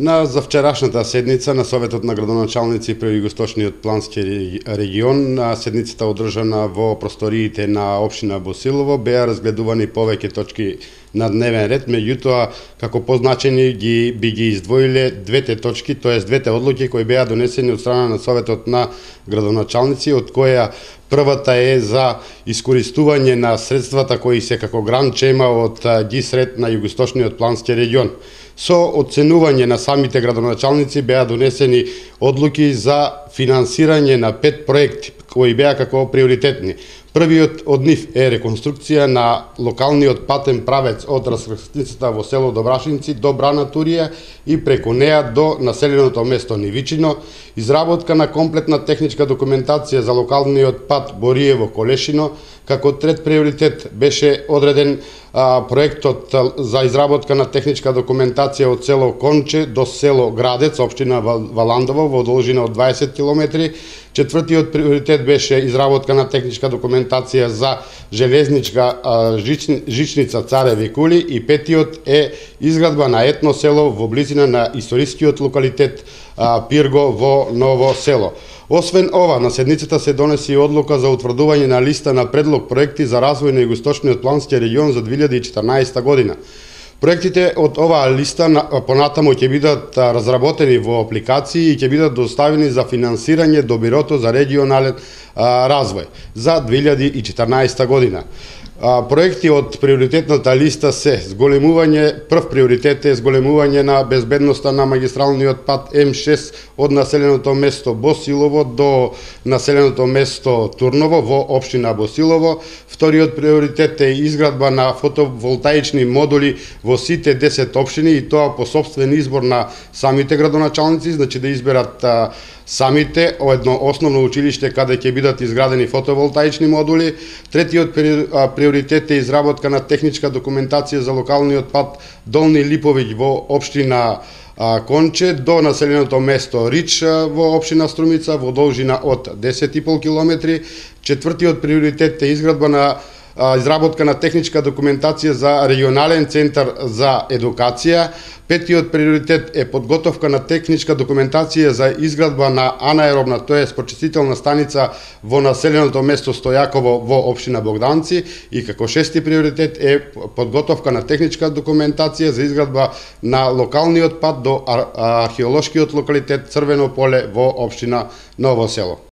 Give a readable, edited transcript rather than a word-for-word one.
На завчерашната седница на Советот на градоначалници при Југоисточниот плански регион, седницата одржана во просториите на општина Босилово, беа разгледувани повеќе точки на дневен ред, меѓутоа како позначени би ги издвоиле двете точки, тоест двете одлуки кои беа донесени од страна на Советот на градоначалници, од која првата е за искористување на средствата кои се како грант чема од ГИСРЕД на Југоисточниот плански регион. Со оценување на самите градоначалници беа донесени одлуки за финансирање на 5 проекти кои беа како приоритетни. Првиот од нив е реконструкција на локалниот патен правец од раскрстницата во село Добрашинци до Брана Турија и преку неа до населеното место Нивичино, изработка на комплетна техничка документација за локалниот пат Бориево-Колешино, како трет приоритет беше одреден проектот за изработка на техничка документација од село Конче до село Градец, општина Валандово, во должина од 20 км. Четвртиот приоритет беше изработка на техничка документација за железничка жичница Цареви кули и петиот е изградба на етно село во близина на историскиот локалитет Пирго во Ново село. Освен ова, на седницата се донеси одлука за утврдување на листа на предлог проекти за развој на Југоисточниот плански регион за 2014 година. Проектите од оваа листа понатамо ќе бидат разработени во апликации и ќе бидат доставени за финансирање до Бирото за регионален развој за 2014 година. Проекти од приоритетната листа се прв приоритет е зголемување на безбедноста на магистралниот пат М6 од населеното место Босилово до населеното место Турново во општина Босилово. Вториот приоритет е изградба на фотоволтаични модули во сите 10 општини и тоа по сопствен избор на самите градоначалници, значи да изберат самите едно основно училиште каде ќе бидат изградени фотоволтаични модули. Третиот приоритет е изработка на техничка документација за локалниот пат Долни Липовиќ во општина Конче до населеното место Рич во општина Струмица во должина од 10,5 км. Четвртиот приоритет е изработка на техничка документација за регионален центар за едукација. Петиот приоритет е подготовка на техничка документација за изградба на анаеробна, тоест почистителна станица во населеното место Стојаково во општина Богданци и како шести приоритет е подготовка на техничка документација за изградба на локалниот пат до археолошкиот локалитет Црвено поле во општина Ново село.